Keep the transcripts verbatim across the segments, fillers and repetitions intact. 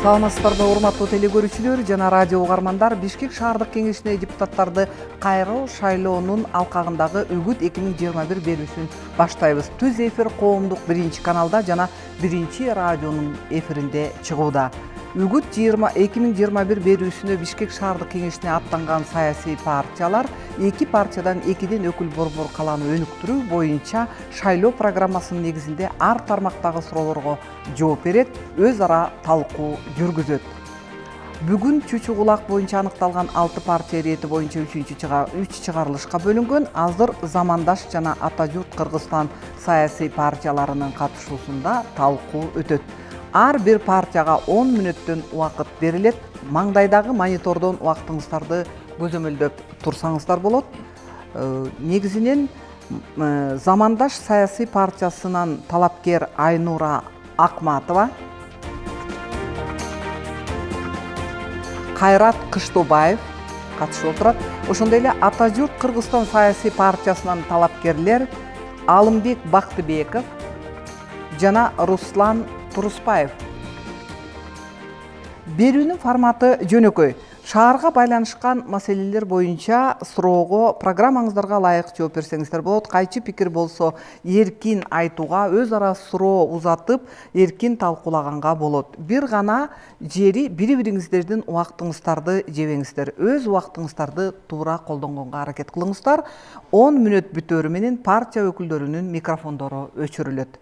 Саламатсыздарбы урматтуу теле көрүүчүлөр жана радио угармандар. Бишкек шаардык кеңешине депутаттарды кайруу шайлоонун алкагындагы Үгүт эки миң жыйырма бир берүүсүн баштайбыз. Түз эфир коомдук биринчи каналда жана биринчи радионун эфиринде чыгууда. Үгүт эки миң жыйырма бир берүүсүнө Бишкек шаардык кеңешине аттанган саясий партиялар эки партиядан экиден өкүл борбор калааны өнүктүрүү боюнча шайлоо программасынын негизинде ар тармактагы суроолорго жооп берет, өз ара талкуу жүргүзөт. Бүгүн Чүчү Кулак боюнча аныкталган алты партия ирети боюнча үч чыгарылышка бөлүнгөн. Азыр Замандаш жана Ата журт Кыргызстан саясий партияларынын катышуусунда талкуу өтөт. Ар бир партияга он мүнөттөн убакыт берилет. Маңдайдагы монитордон убактыңыздарды көзөмөлдөп турсаңыздар болот. Негизинен Замандаш саясий партиясынан талапкер Айнура Акматова, Кайрат Кыштобаев катышып отурат. Ошондой эле Ата журт Кыргызстан саясий партиясынан талапкерлер Алымбек Бактыбеков жана Руслан Туруспаев. Берүүнүн форматы жөнөкөй. Шаарга байланышкан маселелер боюнча суроого программаңыздарга ылайык жооп берсеңиздер болот. Кайчы пикир болсо эркин айтууга, өз ара суроо узатып, эркин талкуулаганга болот. Бир гана жери бири-бириңиздердин убактыңыздарды жебеңиздер. Өз убактыңыздарды туура колдонгонго аракет кылыңыздар. он мүнөт бүтөөрү менен партия өкүлдөрүнүн микрофондору өчүрүлөт.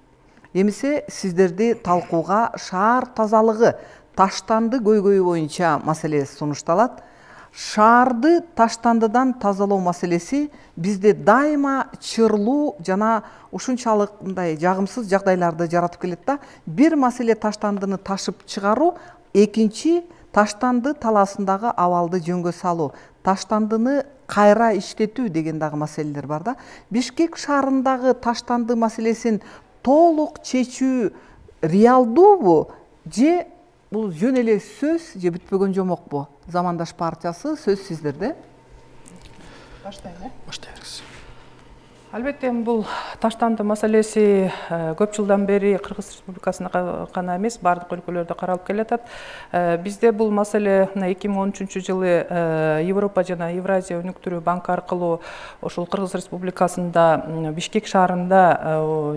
Эмесе сиздерди талкууга шаар тазалыгы, таштанды көйгөйү боюнча маселе сунушталат. Шаарды таштандыдан тазалоо маселеси бизде дайыма чырлуу жана ушунчалык мындай жагымсыз жагдайларды жаратып келет да. Бир маселе таштандыны ташып чыгаруу, экинчи таштанды талаасындагы абалды жөнгө салуу, таштандыны кайра иштетүү деген дагы маселелер бар да. Бишкек шаарындагы таштанды маселесин толук чечүү реалдуубу же бул жөн эле сөз же бүтпөгөн жомокпу? Замандаш партиясы, сөз сиздерде. Баштайлы. Баштайбыз. Албетте бул таштанды маселеси көп жылдан бери Кыргыз Республикасында гана эмес, бардык өлкөлөрдө каралып келатат. Бизде бул маселе эки миң он үчүнчү жылы Европа жана Евразия өнүктүрүү банкы аркылуу ошол Кыргыз Республикасында Бишкек шаарында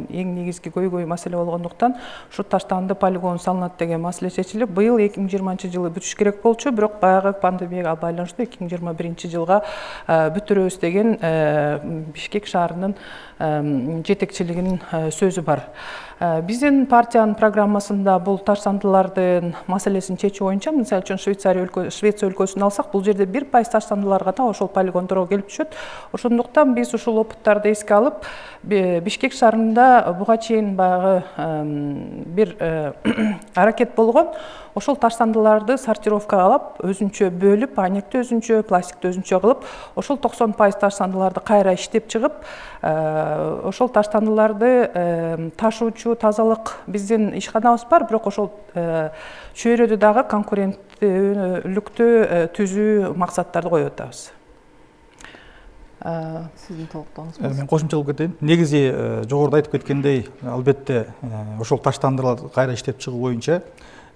эң негизги көйгөй маселе болгондуктан ушу таштанды полигон салынат деген маселе чечилип, быйыл эки миң жыйырманчы жылы бүтүш керек болчу, бирок баягы пандемияга байланыштуу эки миң жыйырма биринчи жылга бүтүрөбүз деген Бишкек шаарынын жетекчилигинин сөзү бар. Биздин партиянын программасында бул таштандылардын маселесин чечүү боюнча, мисалы үчүн Швейцария өлкөсүн алсак, бул жерде бир пайыз таштандылар гана ошол полигондорго келип түшөт. Ошондуктан биз ушул опыттарды эске алып, Бишкек шаарында буга чейин баягы бир аракет болгон. Ошол таштандыларды сортировкалап, өзүнчө бөлүп, анекти өзүнчө, пластикти өзүнчө кылып, ошол токсон пайыз таштандыларды кайра иштеп чыгып, ошол таштандыларды ташуучу тазалык биздин ишканабыз бар, бирок ошол чөйрөдө дагы конкуренттүүлүктү түзүү максаттарды коюп атабыз. Сиздин толуктооңуз? Мен кошумчалап кетейин. Негизи жогоруда айтып кеткендей, албетте ошол таштандыларды кайра иштеп чыгуу боюнча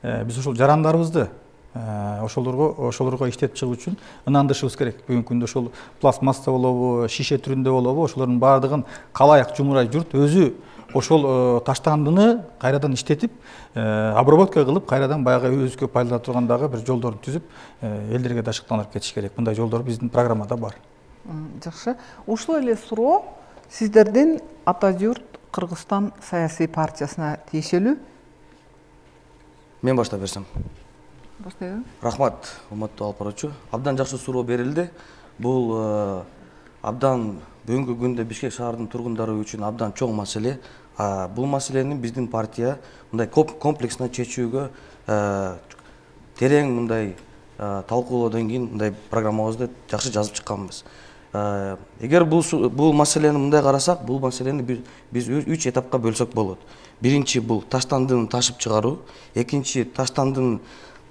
биз ошол жарандарыбызды ошолорго ошолорго иштеп чыгуу үчүн ынандышыбыз керек. Бүгүнкү күндө ошол пластмасса болобу, шише түрүндө болобу, ошолордун баардыгын калайык жумурай журт өзү ошол таштандыны кайрадан иштетип, обработка кылып, кайрадан баягы өзүккө пайдалана турган дагы бир жолдорду түзүп, элдерге дашыктандырып кетиш керек. Мындай жолдор биздин программада бар. Жакшы. Ушул эле суроо сиздердин Ата журт Кыргызстан саясий партиясына тиешелүү. Мен баштап берсем. Баштайбы. Рахмат, урматтуу алып баруучу. Абдан жакшы суроо берилди. Бул абдан бүгүнкү күндө Бишкек шаарынын тургундары үчүн абдан чоң маселе. Бул маселени биздин партия мындай комплексно чечүүгө терең мындай талкуулоодон кийин мындай программабызды жакшы жазып чыкканбыз. Эгер бул бул маселени мындай карасак, бул маселени биз үч этапка бөлсөк болот. Биринчи бул таштандыны ташып чыгаруу, экинчи таштандынын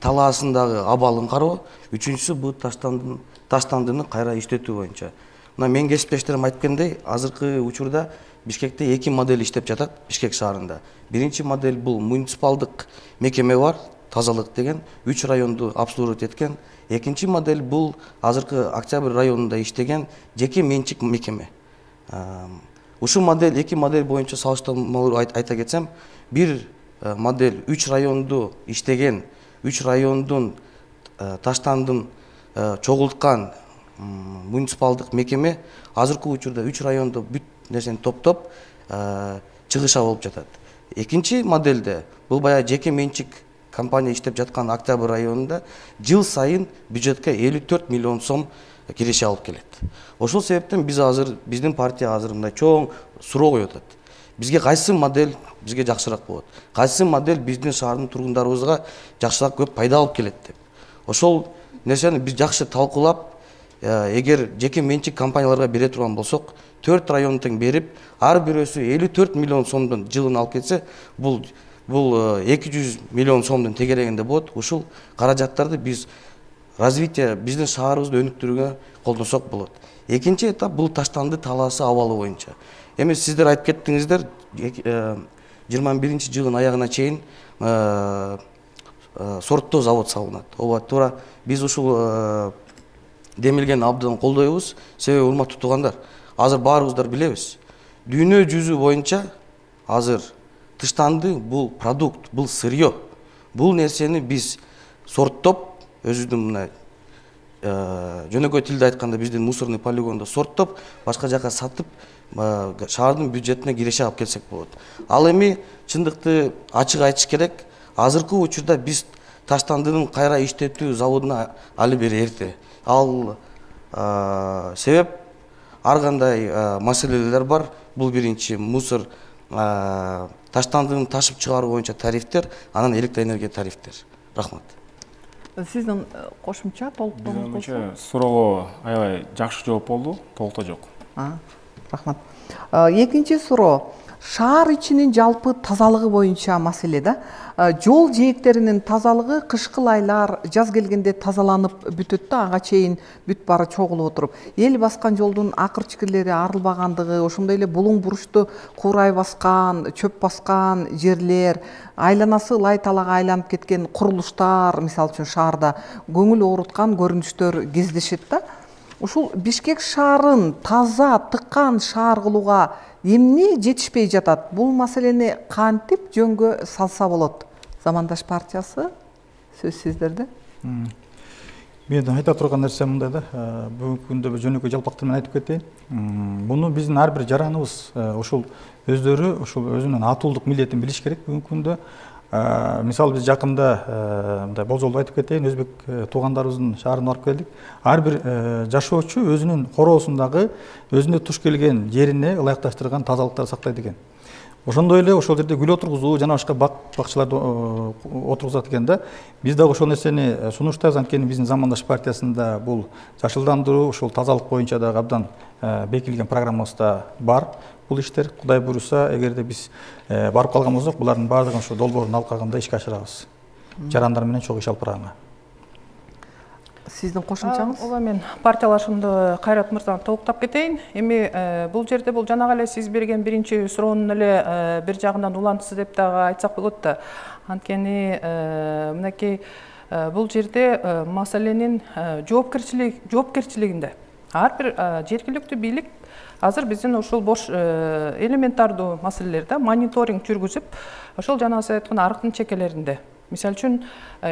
талаасындагы абалын кароо, үчүнчүсү бул таштандын таштандыны кайра иштетүү боюнча. Мына мен кесиптештерим айткандай, азыркы учурда Бишкекте эки модель иштеп жатат Бишкек шаарында. Биринчи модель бул муниципалдык мекеме бар, тазалык деген үч районду обслуживать эткен. Экинчи модель бул азыркы Октябрь районунда иштеген жеке менчик мекеме. Ушул модель эки модель боюнча салыштырмалуу айта кетсем, бир модель үч районду иштеген, үч райондун таштандын чогулткан муниципалдык мекеме азыркы учурда үч райондо бүт нерсени топтоп чыгыша болуп жатат. Экинчи модельде бул баягы жеке менчик компания иштеп жаткан Октябрь районунда жыл сайын бюджетке элүү төрт миллион сом киреше алып келет. Ошол себептен биз азыр биздин партия азыр мындай чоң суроо коюп атат. Бизге кайсы модель бизге жакшыраак болот? Кайсы модель биздин шаардын тургундарыбызга жакшыраак көп пайда алып келет деп. Ошол нерсени биз жакшы талкуулап, эгер жеке менчик компанияларга бере турган болсок, төрт район тең берип, ар бирөөсү элүү төрт миллион сомдун жылын алып кетсе, бул бул эки жүз миллион сомдун тегерегинде болот. Ушул каражаттарды биз развитие биздин шаарыбызды өнүктүрүүгө колдонсок болот. Экинчи этап бул таштанды талаасы абалы боюнча. Эми сиздер айтып кеттиңиздер, жыйырма биринчи жылдын аягына чейин сорттоо завод салынат. Ооба, туура биз ушул демилгени абдан колдойбуз. Себеби урматтуу туугандар, азыр баарыбыздар билебиз. Дүйнө жүзү боюнча азыр тыштанды бул продукт, бул сырьё. Бул нерсени биз сорттоп, өзүбүздүн мына жөнөкөй тилде айтканда биздин мусорный полигондо сорттоп, башка жака сатып, шаардын бюджетине киреше алып келсек болот. Ал эми чындыкты ачык айтыш керек, азыркы учурда биз таштандынын кайра иштетүү заводуна али бери эрте. Ал себеп ар кандай маселелер бар. Бул биринчи мусор таштандыны ташып чыгаруу боюнча тарифтер, анан электроэнергия тарифтер. Рахмат. Сиздин кошумча толуктооңуз болсо? Суроого аябай жакшы жооп болду, толукта жок. Рахмат. Экинчи суроо. Шаар ичинин жалпы тазалыгы боюнча маселе да. Жол жээктеринин тазалыгы кышкы айлар, жаз келгенде тазаланып бүтөт да, ага чейин бүт баары чогулуп отуруп. Эл баскан жолдун акыр-чикирлери арылбагандыгы, ошондой эле булуң бурушту куурай баскан, чөп баскан жерлер, айланасы лай талага айланып кеткен курулуштар, мисалы үчүн шаарда көңүл ооруткан көрүнүштөр кездешет да. Ушул Бишкек шаарын таза, тыккан шаар кылууга эмне жетишпей жатат? Бул маселени кантип жөнгө салса болот? Замандаш партиясы сөз сиздерде. Мен айта турган нерсем мындай да, бүгүнкү күндө жөнөкөй жалпактар менен айтып кетейин. Муну биздин ар бир жараныбыз ошол өздөрү ошол өзүнүн атуулдук милдетин билиш керек бүгүнкү күндө. Мисалы биз жакында мындай болжолду айтып кетейин, өзбек туугандарыбыздын шаарына барып келдик. Ар бир жашоочу өзүнүн короосундагы өзүнө туш келген жерине ылайыкташтырган тазалыктарды сактайт экен. Ошондой эле ошол жерде гүл отургузуу жана башка бак-бакчыларды отургузат экен да. Биз дагы ошол нерсени сунуштайбыз, анткени биздин Замандаш партиясында бул жашылдандыруу, ошол тазалык боюнча дагы абдан бекилген программабызда бар. Бул иштер Кудай буйруса, эгерде биз барып калган болсок, булардын баардыгын ошо долбоорун алкагында ишке ашырабыз. Жарандар менен чогуу иш алып барганга. Сиздин кошумчаңыз? Ооба, мен партиялашымды Кайрат мырзаны толуктап кетейин. Эми бул жерде бул жанагы эле сиз берген биринчи суроонун эле бир жагынан улантысы деп дагы айтсак болот да. Анткени мынакей бул жерде маселенин жоопкерчилигинде ар бир жергиликтүү бийлик азыр биздин ушул бош элементардуу маселелерде мониторинг жүргүзүп, ошол жанагы сиз айткан арыктын чекелеринде, мисалы үчүн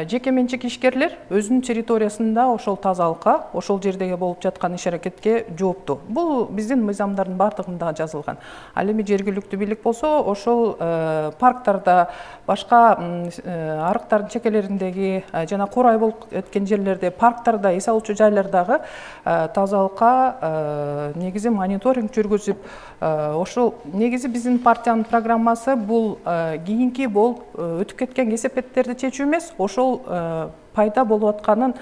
жеке менчик ишкерлер өзүнүн территориясында ошол тазалыкка, ошол жердеги болуп жаткан иш-аракетке жооптуу. Бул биздин мыйзамдардын баардыгында жазылган. Ал эми жергиликтүү бийлик болсо, ошол парктарда, башка арыктардын чекелериндеги жана курай болуп кеткен жерлерде, парктарда, эс алуучу жайлардагы тазалыкка негизи мониторинг жүргүзүп, ошол негизи биздин партиянын программасы бул кийинки болуп өтүп кеткен кесепеттерди чечүү эмес, ошол пайда болуп атканын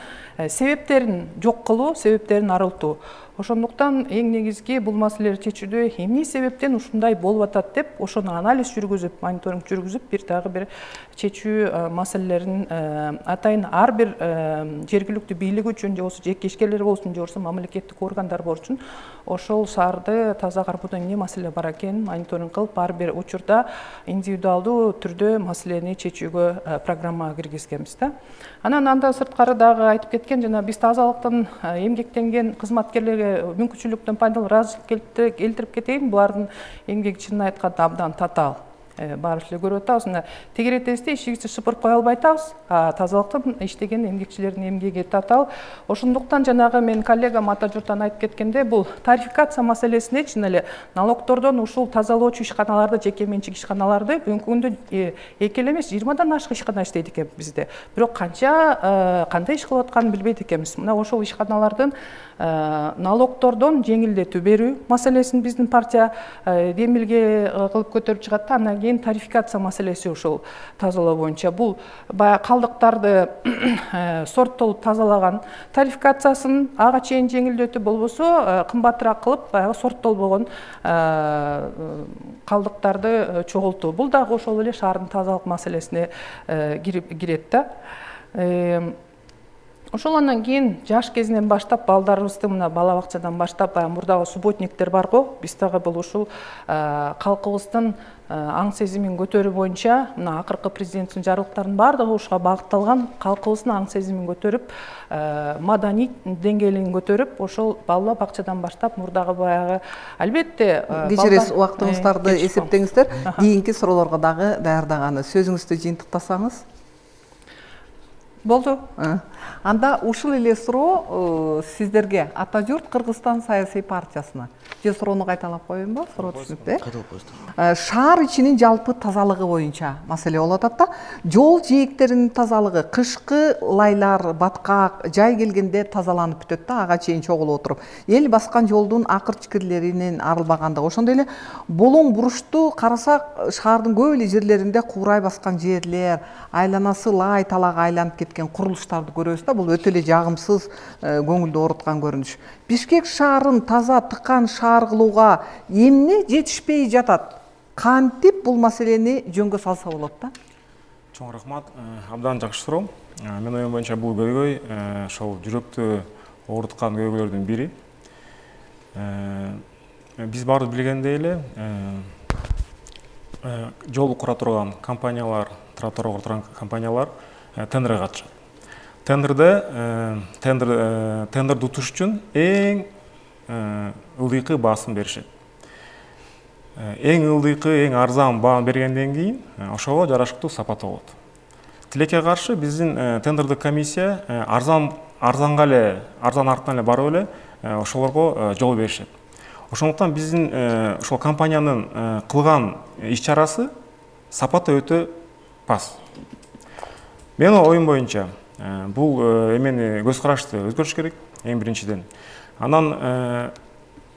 себептерин жок кылуу, себептерин арылтуу. Ошондуктан эң негизги бул маселелерди чечүүдө эмне себептен ушундай болуп атат деп ошону анализ жүргүзүп, мониторинг жүргүзүп, бир дагы бир чечүү маселелерин атайын ар бир жергиликтүү бийлик үчүн, же болбосо жеке ишкерлер болсун, же болбосо мамлекеттик органдар болсун, ошол шаарды таза кармоодо эмне маселе бар экенин мониторинг кылып, ар бир учурда индивидуалдуу түрдө маселени чечүүгө программага киргизгенбиз да. Анан андан сырткары дагы айтып кеткен, жана биз тазалыктын эмгектенген кызматкерлерге мүмкүнчүлүктөн пайдаланып ыраазычылык келтирип кетейин. Булардын эмгеги чынын айтканда абдан татаал. Баарыбыз эле көрүп атабыз. Мына тегеретесте ишибизди шыпырып кое албай атабыз. Тазалыктын иштеген эмгекчилердин эмгеги татаал. Ошондуктан жанагы мен коллегам ата журттан айтып кеткенде, бул тарификация маселесине чын эле налогтордон ушул тазалоочу ишканаларды, жеке менчик ишканаларды бүгүнкү күндө эки эле эмес, жыйырмадан ашык ишкана иштейт экен bizde. Бирок канча кандай иш кылып атканын билбейт экенбиз. Мына ошол ишканалардын налогтордон жеңилдетүү берүү маселесин биздин партия демилге кылып көтөрүп чыгат. Андан кийин тарификация маселеси ушул тазалоо боюнча бул баягы калдыктарды сорттолуп тазалаган тарификациясын ага чейин жеңилдетүү болбосо кымбатыраак кылып баягы сорттолбогон калдыктарды чогултуу. Бул дагы ошол эле шаардын тазалык маселесине кирет да. Ошол андан кийин жаш кезинен баштап балдарыбызды мына бала бакчадан баштап баягы мурдагы субботниктер бар го. Биз дагы бул ушул калкыбыздын аң сезимин көтөрүү боюнча мына акыркы президенттин жарлыктарынын баардыгы ушуга багытталган. Калкыбыздын аң сезимин көтөрүп, маданий деңгээлин көтөрүп, ошол бала бакчадан баштап мурдагы баягы албетте кечиресиз убактыңыздарды эсептеңиздер. Кийинки суроолорго дагы даярдаганы сөзүңүздү жыйынтыктасаңыз. Болду. Анда ушул эле суроо сиздерге Ата журт Кыргызстан саясий партиясына. Же суроону кайталап коеюнбу? Суроо түшүнүктүү. Кайталап коесуздар. Шаар ичинин жалпы тазалыгы боюнча маселе болуп атат да. Жол жээктеринин тазалыгы кышкы лайлар, баткак, жай келгенде тазаланып бүтөт да, ага чейин чогулуп отуруп. Эл баскан жолдун акыр-чикирлеринин арылбагандыгы. Ошондой эле болоң бурушту карасак, шаардын көп эле жерлеринде куурай баскан жерлер, айланасы лай талаага айланып кеткен курулуштарды көрөбүз да. Бул өтө эле жагымсыз, көңүлдү ооруткан көрүнүш. Бишкек шаарын таза, тыкан шаар кылууга эмне жетишпей жатат? Кантип бул маселени жөнгө салса болот да? Чоң рахмат. Абдан жакшы суроо. Менин оюм боюнча бул көйгөй ошол жүрөктү ооруткан көйгөйлөрдүн бири. Биз баарыбыз билгендей эле жол кура турган компаниялар, тротуар кура турган компаниялар тендерге катышат. Тендерде тендер тендерди утуш үчүн эң ылдыйкы баасын беришет. Эң ылдыйкы, эң арзан бааны бергенден кийин ошого жарашыктуу сапаты болот. Тилекке каршы биздин тендердик комиссия арзан арзанга эле, арзан артынан эле барып эле ошолорго жол беришет. Ошондуктан биздин ошол компаниянын кылган иш-чарасы сапаты өтө пас. Менин оюм боюнча бул эмени көз карашты өзгөртүш керек эң биринчиден. Анан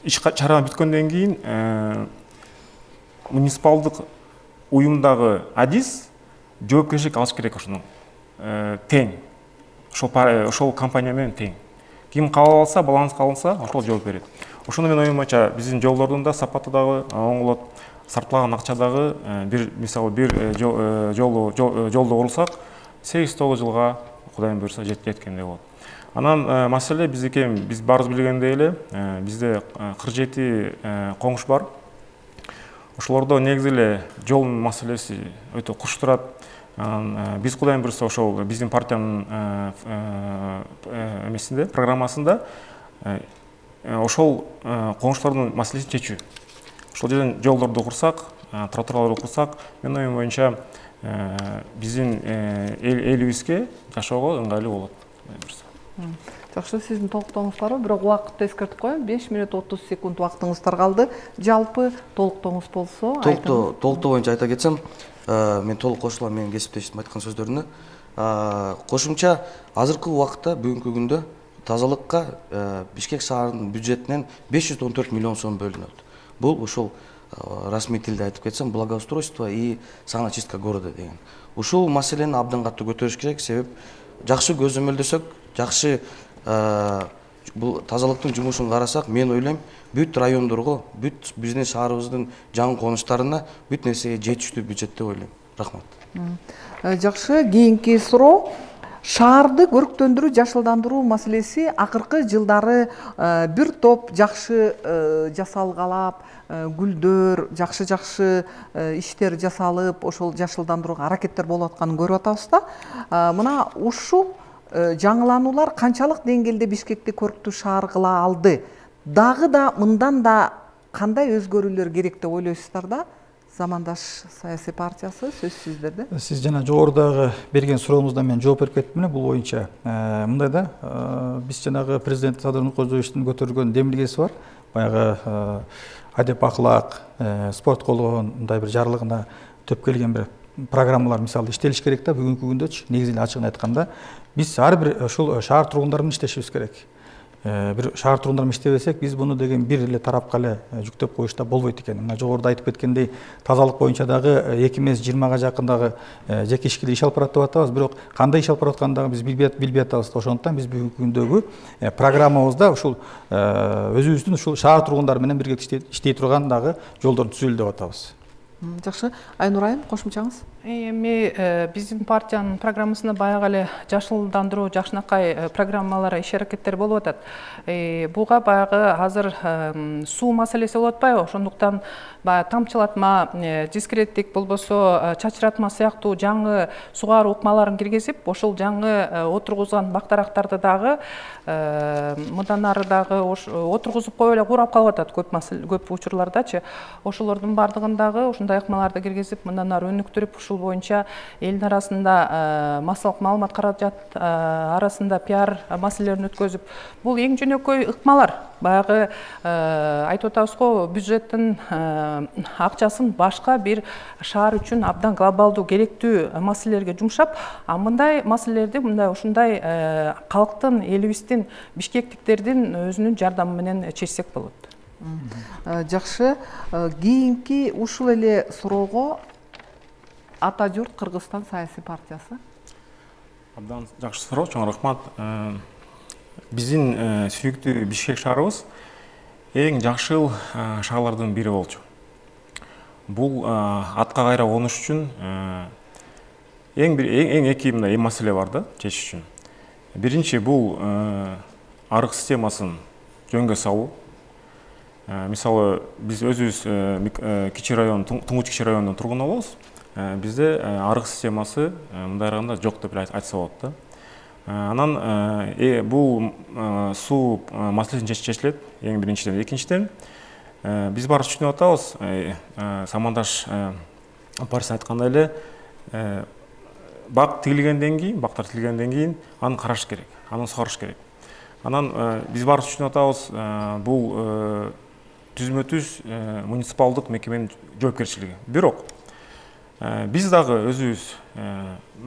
иш чара бүткөндөн кийин муниципалдык уюмдагы адис жоопкерчилик алыш керек ошону. Тең. Ошол ошол компания менен тең. Ким кабыл алса, баланска алынса, ошол жооп берет. Ошону менин оюм боюнча биздин жолдордун да сапаты дагы оңолот. Сарпталган акча дагы бир мисалы бир жолду жолду курсак сегиз тогуз жылга Кудайым буйрса жеткендей болот. Анан маселе биздики биз баарыбыз билгендей эле бизде кырк жети коңуш бар. Ошолордо негизи эле жол маселеси өтө куш турат. Биз Кудайым буйрса ошол биздин партиянын эмесинде, программасында ошол коңуштардын маселесин чечүү. Ошол жерден жолдорду курсак, тротуарларды курсак, менин оюм боюнча биздин элибизге жашоого ыңгайлуу болот. Жакшы, сиздин толуктооңуз барбы? Бирок убакытты эскертип коеюн. беш мүнөт отуз секунд убактыңыздар калды. Жалпы толуктооңуз болсо, толуктоо толуктоо боюнча айта кетсем, мен толук кошулам менин кесиптешим айткан сөздөрүнө. Кошумча азыркы убакытта бүгүнкү күндө тазалыкка Бишкек шаарынын бюджетинен беш жүз он төрт миллион сом бөлүнөт. Бул ушул расмий тилде айтып кетсем, благоустройство и саночистка города деген. Ушул маселени абдан катуу көтөрүш керек, себеп жакшы көзөмөлдөсөк, жакшы бул тазалыктын жумушун карасак, мен ойлойм бүт райондорго, бүт биздин шаарыбыздын жаңы конуштарына бүт нерсеге жетиштүү бюджет деп ойлойм. Рахмат. Жакшы, кийинки суроо. Шаарды көрктөндүрүү, жашылдандыруу маселеси акыркы жылдары бир топ жакшы жасалгалап, гүлдөр, жакшы-жакшы иштер жасалып, ошол жашылдандырууга аракеттер болуп атканын көрүп атабыз да. Мына ушул жаңылануулар канчалык деңгээлде Бишкекти көрктүү шаар кыла алды? Дагы да мындан да кандай өзгөрүүлөр керек деп ойлойсуздар да? Замандаш саясий партиясы сөз сиздерде. Сиз жана жогорудагы берген сурооңуздан мен жооп берип кеттим. Бул боюнча мындай да, биз жанагы президент Садыр Нуркожоевичтин көтөргөн демилгеси бар. Баягы адеп акылак, спорт колгон мындай бир жарлыгына төп келген бир программалар мисалы иштелиш керек да. Бүгүнкү күндөчү негизинен ачыгын айтканда биз ар бир ушул шаар тургундары менен иштешибиз керек. Бир шаар тургундары менен иштебесек, биз буну деген бир эле тарапка эле жүктөп коюшта болбойт экен. Мына жогоруда айтып кеткендей, тазалык боюнча дагы эки эмес жыйырмага жакын дагы жеке ишкерлер иш алып барат деп атабыз. Бирок кандай иш алып баратканын дагы биз билбей атабыз. Ошондуктан биз бүгүнкү күндөгү программабызда ушул өзүбүздүн ушул шаар тургундары менен бирге иштей турган дагы жолдорду түзөлү деп атабыз. Жакшы, Айнур айым, кошумчаңыз? Эми биздин партиянын программасында баягы эле жашылдандыруу, жакшынакай программалар, иш аракеттер болуп атат. Буга баягы азыр суу маселеси болуп атпайбы? Ошондуктан баягы тамчылатма, дискреттик болбосо чачыратма сыяктуу жаңы сугаруу ыкмаларын киргизип, ошол жаңы отургузган бактарактарды дагы мындан ары дагы отургузуп коюп эле курап калып атат көп көп учурлардачы. Ошолордун бардыгын дагы ушундай ыкмаларды киргизип, мындан ары өнүктүрүп, ушул боюнча элдин арасында массалык маалымат каражат арасында пиар маселелерин өткөзүп, бул эң жөнөкөй ыкмалар. Баягы айтып атабыз го, бюджеттин акчасын башка бир шаар үчүн абдан глобалдуу керектүү маселелерге жумшап, а мындай маселелерди мындай ушундай калктын, элибиздин, бишкектиктердин өзүнүн жардамы менен чечсек болот. Жакшы, кийинки ушул эле суроого Ата журт Кыргызстан саясий партиясы. Абдан жакшы суроо, чоң рахмат. Биздин сүйүктүү Бишкек шаарыбыз эң жакшыл шаарлардын бири болчу. Бул атка кайра конуш үчүн эң бир эң эки мындай маселе бар да, чечиш үчүн. Биринчи бул арык системасын жөнгө салуу. Мисалы, биз өзүбүз кичи район, Туңгуч кичи районунун тургуну болобуз. Бизде арык системасы мындай арганда жок деп айтса болот да. Анан бул суу маселесин чечилет эң биринчиден. Экинчиден, биз баары түшүнүп атабыз, Самандаш партиясы айткандай эле, бак тигилгенден кийин, бактар тигилгенден кийин аны караш керек, аны сугарыш керек. Анан биз баары түшүнүп атабыз, бул түзмө-түз муниципалдык мекеменин жоопкерчилиги. Бирок биз дагы өзүбүз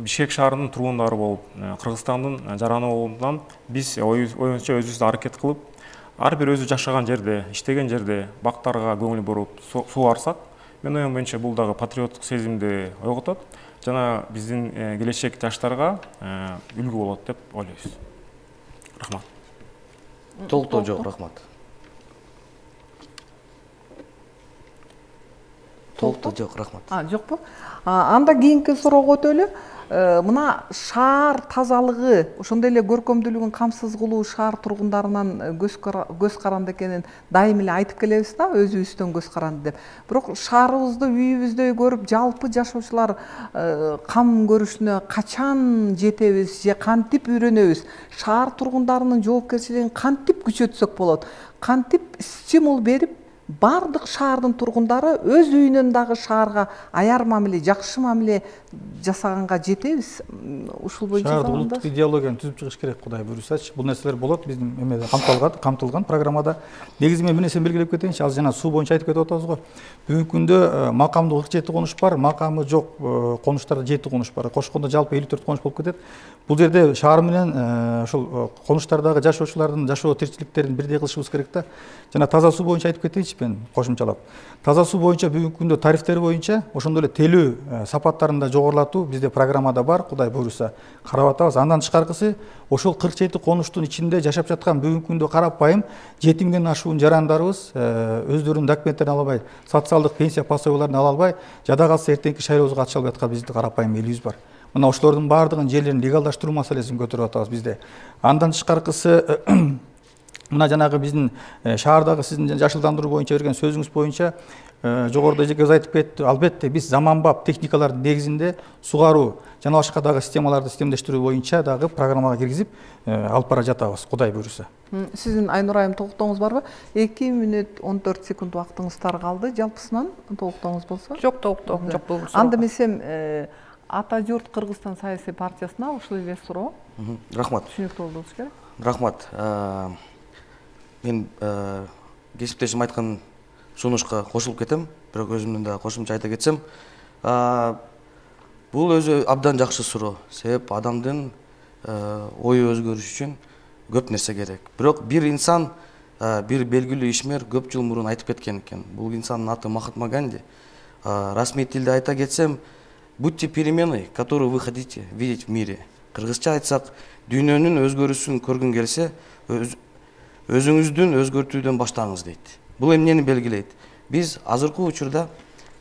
Бишкек шаарынын тургундары болуп, Кыргызстандын жараны болуптан биз оюбузча өзүбүз аракет кылып, ар бир өзү жашаган жерде, иштеген жерде бактарга көңүл буруп сугарсак, мен оюм боюнча бул дагы патриоттук сезимди ойготот, жана биздин келечек жаштарга үлгү болот деп ойлойбуз. Рахмат. Толуктоо жок, рахмат. Толуктоо жок, рахмат. А, жокпу? Анда кийинки суроого өтөлү. Мына шаар тазалыгы, ошондой эле көркөмдүүлүгүн камсыз кылуу шаар тургундарынан көз каранды экенин дайым эле айтып келебиз да, өзүбүздөн көз каранды деп. Бирок шаарыбызды үйүбүздөй көрүп, жалпы жашоочулар кам көрүшүнө качан жетебиз же кантип үйрөнөбүз? Шаар тургундарынын жоопкерчилигин кантип күчөтсөк болот? Кантип стимул берип бардык шаардын тургундары өз үйүнөн дагы шаарга аяр мамиле, жакшы мамиле жасаганга жетебиз? Ушул боюнча шаардык улуттук идеологияны түзүп чыгыш керек, Кудай буюрсачы. Бул нерселер болот биздин эмеде камтылган, камтылган программада. Негизи мен бир нерсени белгилеп кетейинчи, азыр жана суу боюнча айтып кетип атабыз го. Бүгүнкү күндө макамдуу кырк жети конуш бар, макамы жок конуштарда жети конуш бар. Кошкондо жалпы элүү төрт конуш болуп кетет. Бул жерде шаар менен ошол конуштардагы жашоочулардын жашоо тиричиликтерин бирдей кылышыбыз керек да. Жана таза суу боюнча айтып кетейинчи. принципин кошумчалап. Таза суу боюнча бүгүнкү күндө тарифтер боюнча ошондой эле телүү сапаттарын да жогорулатуу бизде программада бар, Кудай буйруса карап атабыз. Андан тышкаркысы ошол кырк жети конуштун ичинде жашап жаткан бүгүнкү күндө карапайым жети миңден ашуун жарандарыбыз өздөрүнүн документтерин ала албай, социалдык пенсия пособияларын ала албай, жада калса эртеңки шайлоого катыша албай аткан биздин карапайым элибиз бар. Мына ошолордун баардыгын жерлерин легалдаштыруу маселесин көтөрүп атабыз бизде. Андан тышкаркысы мына жанагы биздин шаардагы сиздин жашылдандыруу боюнча берген сөзүңүз боюнча жогоруда эжекебиз айтып кетти. Албетте биз заманбап техникалардын негизинде сугаруу жана башка дагы системаларды системдештирүү боюнча дагы программага киргизип алып бара жатабыз, Кудай буйруса. Сиздин Айнур айым толуктооңуз барбы? эки мүнөт он төрт секунд убактыңыздар калды. Жалпысынан толуктооңуз болсо? Жок, толуктоом жок бул. Анда эмесем Ата журт Кыргызстан саясий партиясына ушул эле суроо. Рахмат. Түшүнүктүү болуш керек. Рахмат. Мен кесиптешим айткан сунушка кошулуп кетем, бирок өзүмдүн да кошумча айта кетсем, бул өзү абдан жакшы суроо. Себеп адамдын ою өзгөрүш үчүн көп нерсе керек. Бирок бир инсан, бир белгилүү ишмер көп жыл мурун айтып кеткен экен. Бул инсандын аты Махатма Ганди. Расмий тилде айта кетсем, будьте переменой, которую вы хотите видеть в мире. Кыргызча айтсак, дүйнөнүн өзгөрүүсүн көргүң келсе, өзүңүздүн өзгөртүүдөн баштаңыз дейт. Бул эмнени белгилейт? Биз азыркы учурда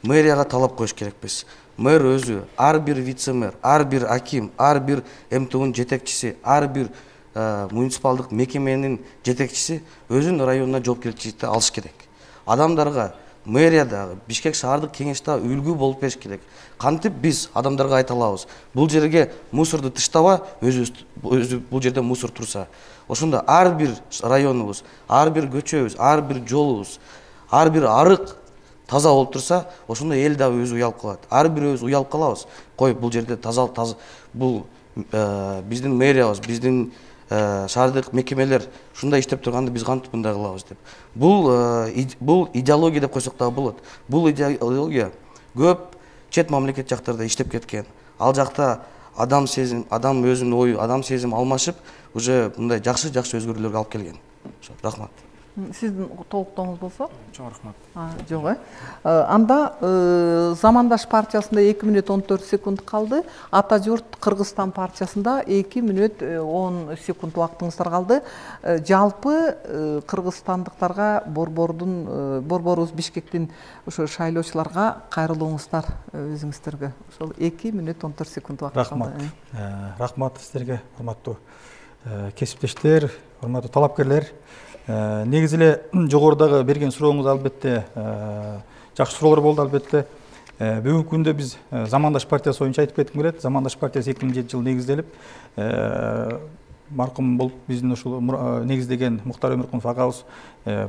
мэрияга талап коюш керекпиз. Мэр өзү, ар бир вице-мэр, ар бир аким, ар бир эм тэ унун жетекчиси, ар бир муниципалдык мекеменин жетекчиси өзүнүн районуна жоопкерчиликти алыш керек. Адамдарга мэриядагы, Бишкек шаардык кеңеште үлгү болуп бериш керек. Кантип биз адамдарга айта алабыз? Бул жерге мусорду таштаба, өзү бул жерде мусор турса. Ошондо ар бир районубуз, ар бир көчөбүз, ар бир жолубуз, ар бир арык таза болуп турса, ошондо эл дагы өзү уялып калат. Ар бирөөбүз уялып калабыз. Кой, бул жерде таза таза бул биздин мэриябыз, биздин шаардык мекемелер ушундай иштеп турганда биз кантип мындай кылабыз деп. Бул бул идеология деп койсок дагы болот. Бул идеология көп чет мамлекет жактарда иштеп кеткен. Ал жакта адам сезим, адам өзүнүн ою, адам сезим алмашып, уже мындай жакшы-жакшы өзгөрүүлөргө алып келген. Рахмат. Сиздин толуктооңуз болсо? Чоң рахмат. Жок, э. Анда Замандаш партиясында эки мүнөт он төрт секунд калды. Ата журт Кыргызстан партиясында эки мүнөт он секунд убактыңыздар калды. Жалпы кыргызстандыктарга борбордун борборубуз Бишкектин ошо шайлоочуларга кайрылууңуздар өзүңүздөргө. Ошол эки мүнөт он төрт секунд убакыт калды. Рахмат. Рахмат сиздерге, урматтуу кесиптештер, урматтуу талапкерлер. Негизи эле жогорудагы берген сурооңуз албетте жакшы суроолор болду албетте. Бүгүнкү күндө биз Замандаш партиясы боюнча айтып кетким келет. Замандаш партиясы эки миң жетинчи жылы негизделип, маркум болуп биздин ушул негиздеген Муктар Өмүркунов агабыз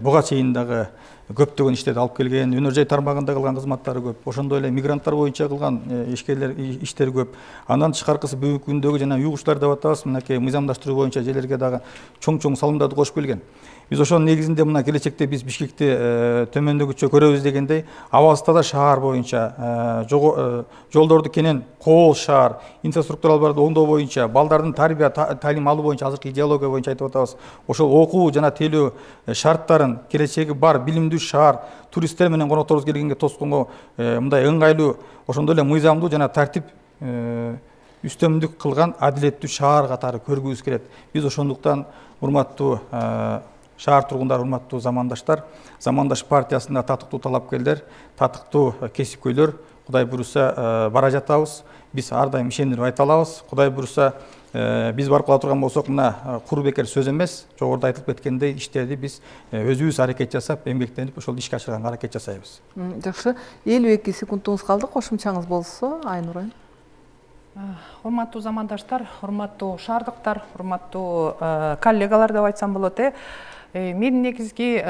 буга чейин дагы көптөгөн иштерди алып келген, өнөр жай тармагында кылган кызматтары көп. Ошондой эле мигранттар боюнча кылган ишкерлер иштери көп. Андан тышкаркысы бүгүнкү күндөгү жана уюгучлар деп атабыз, мынакей мыйзамдаштыруу боюнча жерлерге дагы чоң-чоң салымдарды кошуп келген. Биз ошонун негизинде мына келечекте биз Бишкекти төмөндөгүчө көрөбүз дегендей, абалсызда да шаар боюнча, жолдорду кенен кол шаар, инфраструктураларды оңдоо боюнча, балдардын тарбия таалим алуу боюнча азыркы идеология боюнча айтып атабыз. Ошол окуу жана тейлөө шарттарын, келечеги бар билимдүү шаар, туристтер менен конокторубуз келгенге тосконго мындай ыңгайлуу, ошондой эле мыйзамдуу жана тартип үстөмдүк кылган адилеттүү шаар катары көргүбүз келет. Биз ошондуктан урматтуу шаар тургундары, урматтуу замандаштар, Замандаш партиясында татыктуу талапкерлер, татыктуу кесипкөйлөр, Кудай буйруса бара жатабыз. Биз ар дайым ишендирип айта алабыз. Кудай буйруса биз барып кала турган болсок, мына куру бекер сөз эмес, жогоруда айтылып кеткендей иштерди биз өзүбүз аракет жасап, эмгектенип ошол ишке ашырганга аракет жасайбыз. Жакшы. элүү эки секундуңуз калды. Кошумчаңыз болсо, Айнур айым. Урматтуу замандаштар, урматтуу шаардыктар, урматтуу коллегалар деп айтсам болот, э. Мен негизги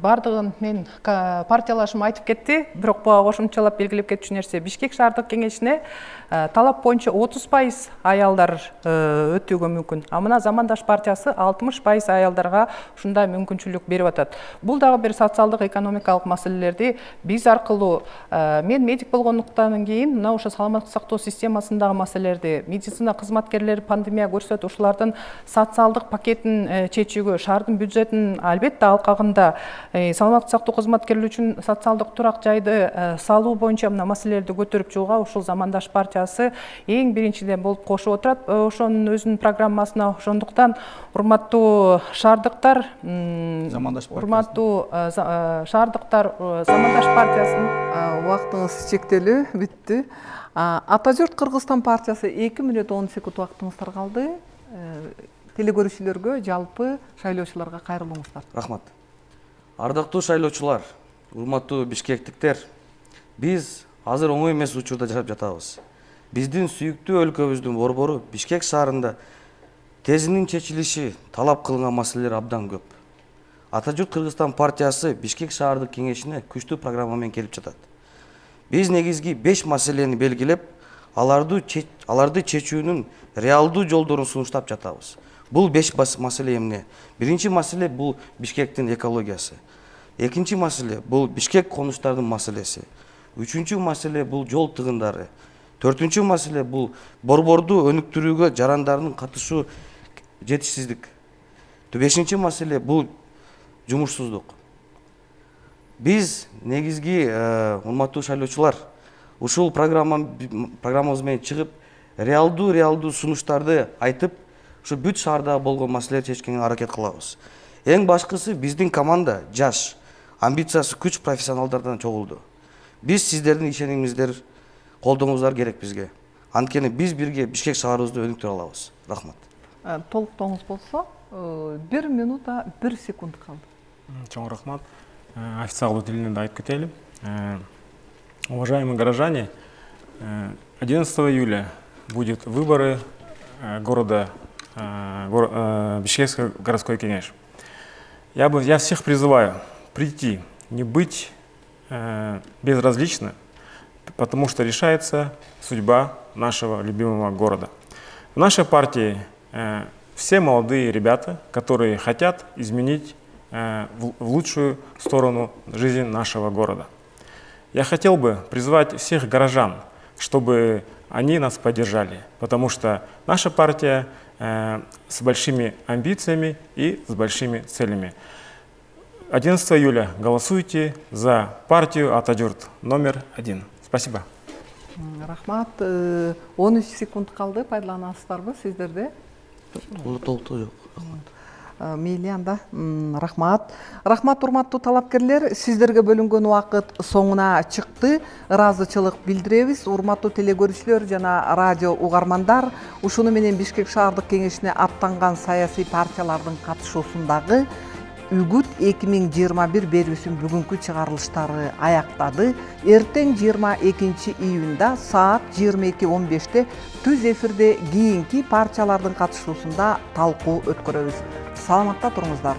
бардыгын мен партиялашым айтып кетти, бирок буга кошумчалап белгилеп кетчү нерсе, Бишкек шаардык кеңешине талап боюнча отуз пайыз аялдар өтүүгө мүмкүн. А мына Замандаш партиясы алтымыш пайыз аялдарга ушундай мүмкүнчүлүк берип атат. Бул дагы бир социалдык экономикалык маселелерди биз аркылуу, мен медик болгондуктан кийин мына ошо саламаттык сактоо системасындагы маселелерди, медицина кызматкерлери пандемия көрсөтүп, ушулардын социалдык пакетин чечүүгө, шаардын бюджет берилетін албетте алкагында саламаттык сактоо кызматкерлери үчүн социалдык турак жайды салуу боюнча мына маселелерди көтөрүп чыгууга ушул Замандаш партиясы эң биринчиден болуп кошуп отурат ошонун өзүнүн программасына. Ошондуктан урматтуу шаардыктар, урматтуу шаардыктар, Замандаш партиясынын убактыңыз чектелүү бүттү. Атажурт Кыргызстан партиясы эки мүнөт он секунд убактыңыздар калды. Телегөрүүчүлөргө, жалпы шайлоочуларга кайрылыңыздар. Рахмат. Ардактуу шайлоочулар, урматтуу бишкектиктер, биз азыр оңой эмес учурда жашап жатабыз. Биздин сүйүктүү өлкөбүздүн борбору Бишкек шаарында тезинин чечилиши талап кылынган маселелер абдан көп. Атажурт Кыргызстан партиясы Бишкек шаардык кеңешине күчтүү программа менен келип жатат. Биз негизги беш маселени белгилеп, аларды аларды чечүүнүн реалдуу жолдорун сунуштап жатабыз. Бул беш маселе эмне? Биринчи маселе бул Бишкектин экологиясы. Экинчи маселе бул Бишкек конуштардын маселеси. Үчүнчү маселе бул жол тыгындары. Төртүнчү маселе бул борборду өнүктүрүүгө жарандардын катышуу жетишсиздик. Бешинчи маселе бул жумушсуздук. Биз негизги урматтуу шайлоочулар ушул программабыз менен чыгып, реалдуу реалдуу сунуштарды айтып, ушу бүт шаарда болгон маселелерди чечкенге аракет кылабыз. Эң башкысы биздин команда жаш, амбициясы күч профессионалдардан чогулду. Биз сиздердин ишенимиңиздер, колдооңуздар керек бизге. Анткени биз бирге Бишкек шаарыбызды өнүктүрө алабыз. Рахмат. Толуктооңуз болсо, бир минута бир секунд калды. Чоң рахмат. Официалдуу тилинде да айтып кетели. Уважаемые горожане, одиннадцатого июля будет выборы города Бишкекский городской кеңеш. Я бы, я всех призываю прийти, не быть безразличным, потому что решается судьба нашего любимого города. В нашей партии все молодые ребята, которые хотят изменить в лучшую сторону жизни нашего города. Я хотел бы призвать всех горожан, чтобы они нас поддержали, потому что наша партия э, с большими амбициями и с большими целями. одиннадцатого июля голосуйте за партию Атажурт номер один. Спасибо. Рахмат. он үч секунд калды, пайдаланасыздарбы сиздерде? Толуктоо жок. Мейли анда. Рахмат. Рахмат урматтуу талапкерлер, сиздерге бөлүнгөн убакыт соңуна чыкты. Ыраазычылык билдиребиз. Урматтуу телегөрүүчүлөр жана радио угармандар, ушуну менен Бишкек шаардык кеңешине аттанган саясий партиялардын катышуусундагы Үгүт эки миң жыйырма бир берүүсүнүн бүгүнкү чыгарылыштары аяктады. Эртең жыйырма экинчи июнда саат жыйырма эки он беште түз эфирде кийинки партиялардын катышуусунда талкуу өткөрөбүз. Саламатта туруңуздар.